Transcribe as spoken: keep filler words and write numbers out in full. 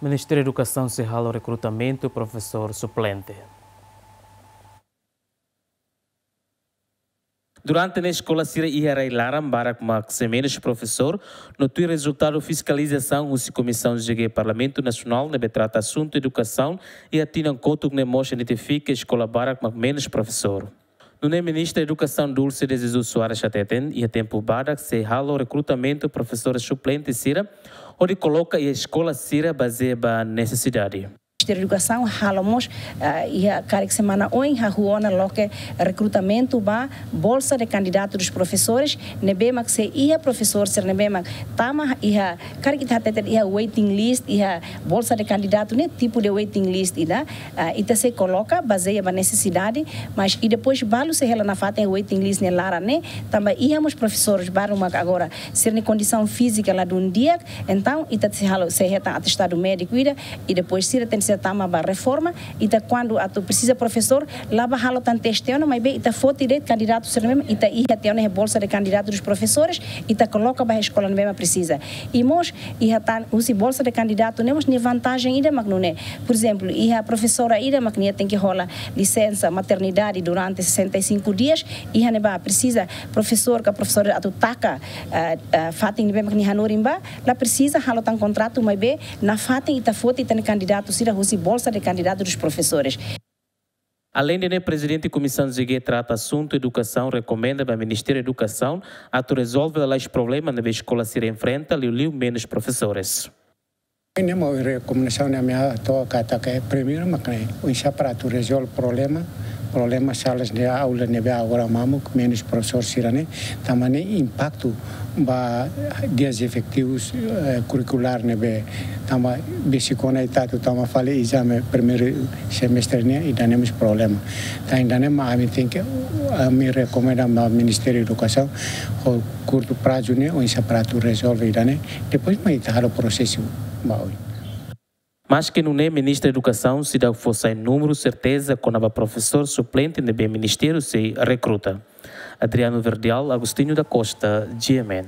Ministériu Edukasaun sei halo rekrutamentu profesór suplente. Durante ne'e eskola sira iha rai-laran barak mak sei menus profesór, no tuir rezultadu fiskalizasaun husi Komisaun G G Parlamentu Nasionál ne'ebé trata asuntu edukasaun iha tinan kotuk ne'e mós identifika eskola barak mak menus profesór. Nune'e Ministra Edukasaun Dulce de Jesus Soares hateten, iha tempu badak sei halo rekrutamentu profesór suplente sira, hodi koloka iha eskola sira bazeia ba nesesidade. Ministériu Edukasaun halo mós, ah, iha karik semana oin hahú ona loke rekrutamentu ba bolsa de candidato dos professores, ne'ebé mak sei iha profesór sira ne'ebé mak tama iha, karik ita hateten iha waiting list, iha bolsa de candidato ne'e tipu de waiting list ida, ah, ita sei koloka bazeia ba nesesidade, mas i depois balu sei hela nafatin waiting list ne'e laran ne'e, tanba iha mós profesores balu mak agora sira-nia kondisaun fízika ladún di'ak, entaun ita sei halo, sei hetan atestadu médiku ida, i depois sira tenke sei tama ba reforma, ita kuandu atu presiza profesór, la bá halo tan teste ona, maibé ita foti de'it kandidatu sira ne'ebé mak ita iha tiha ona iha bolsa de candidato dos professores, ita koloka ba eskola ne'ebé mak presiza. I mós iha tan husi bolsa de candidato ne'e mós nia vantajen ida mak nune'e. Por ezemplu, iha profesora ida mak nia tenke hola lisensa maternidade durante sessenta e cinco dias, iha ne'ebá presiza profesór ka profesora atu taka, eh, eh, fatin ne'ebé mak nia hanorin ba, la presiza halo tan kontratu, maibé nafatin ita foti ita-nia kandidatu sira husi bolsa de candidato dos professores. Aleinde ne'e, Prezidente Komisaun G G trata asuntu edukasaun rekomenda ba Ministériu Edukasaun atu rezolve lalais problema ne'ebé eskola sira enfrenta, liuliu menus profesores. Ne'e mak rekomendasaun ne'e ami hato'o katak primeiru mak ne'e oinsá para atu rezolve problema, problema sala de aula ne'ebé agora mamuk menus profesór sira-ne'e, tanba ne'e impaktu ba dias efetivus, eh, kurrikulár ne'ebé, tanba besik ona ita atu tama fali ezame primeiru semestre ne'e, ida-ne'e mós problema. Tan ida-ne'e mak ami tenke, ami rekomenda ba Ministériu Edukasaun, ho kurtu prazu ne'e, oinsá para atu rezolve ida-ne'e, depois mak ita halo prosesu ba oin. Maske nune'e, Ministra Edukasaun seidauk fó sai númeru serteza kona-ba profesór suplente ne'ebé Ministériu sei rekruta. Adriano Verdial, Agostinho da Costa, G M N.